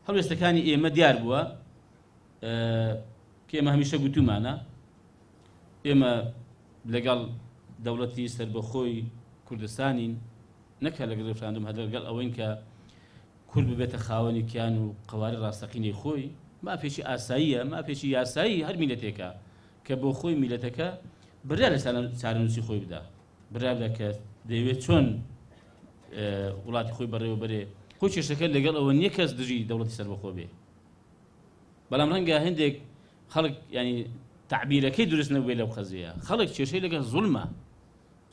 هەڵوێستەکانی ئێمە دیار بووە کە ئێمە هەمیشە گوتومانە ئێمە لەگەڵ دەوڵەتی سەربەخۆی کوردستانین، نەک هەر لەگەڵ ڕیفراندۆم، هەر لەگەڵ ئەوەین کە کورد ببێتە خاوەنی کیان و قەوارەی ڕاستەقینەی خۆی. مافێکی ئاساییە، مافێکی یاسایی هەر میلەتێکە کە بۆ خۆی میلەتەکە بڕیار لە چارەنووسی خۆی بدا، بڕیار بدا کە دەیەوێت چۆن وڵاتی خۆی بەڕێوە بەرێ. خۆی کێشەکە لەگەڵ ئەوە نییە کەس دژی دەوڵەتی سەربەخۆ بێ، بەڵام ڕەنگە هەندێک خەڵک ینی تعبیرەکەی دروست نەبووێ لەو قەزیە. خەڵک کێشەی لەگەڵ زوڵمە،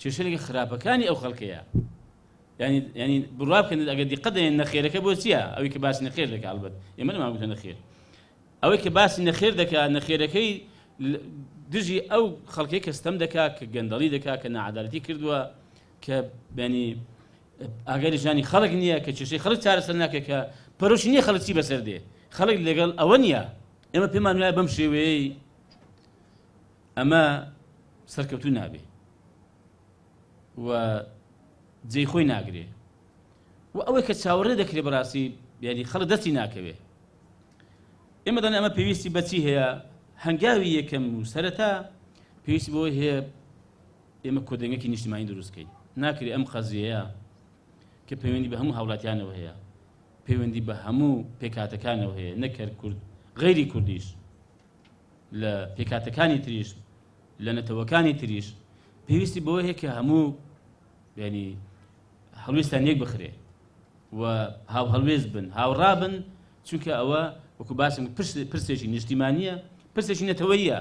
کێشەی لەگەڵ خراپەکانی ئەو خەڵکەیە. ینی ینی بڕوا بکەن ئەگەر دیقەت دەێن نەخێرەکە بۆ چییە؟ ئەوەی کە باسی نەخێر دەکا، ئەڵبەت ئێمە نەمان گوتە نەخێر، ئەوەی کە باسی نەخێر دەکا نەخێرەکەی دژی ئەو خەڵکەی کە ستەم دەکا، کە گەندەڵی دەکا، کە ناعەدالەتی کردووە، کە ینی ئاگای لە ژیانی خەڵک نییە، کە کێشەی خەڵک چارەسەر ناکە، کە پەرۆشی نییە خەڵک چی بەسەر دێ، خەڵک لەگەڵ ئەوە نییە. ئێمە پێمان وایە بەم شێوەیەی ئەمە سەرکەوتوو نابێ و جێی خۆی ناگرێ و ئەوەی کە چاوەڕێ دەکرێ بەڕاستی یعنی خەڵک دەستی ناکەوێ. ئێمە دەڵێن ئەمە پێویستی بەچی هەیە؟ هەنگاوی یەکەم و سەرەتا پێویستی بەوەی هەیە ئێمە کۆدەنگێکی نیشتیمانی دروست بکەین. ناکرێ ئەم قەزیەیە کە پەیوەندی بە هەموو هاوڵاتیانەوە هەیە، پەیوەندی بە هەموو پێکهاتەکانەوە هەیە، نەک هەر کورد، غەیری کوردیش، لە پێکهاتەکانی تریش، لە نەتەوەکانی تریش، پێویستی بەوە هەیە کە هەموو ینی هەڵوێستان یەک بخرێ و هاوهەڵوێست بن، هاوڕا بن، چونکە ئەوە وەکو باسم پرسێکی نیشتیمانیە، پرسێکی نەتەوەیە.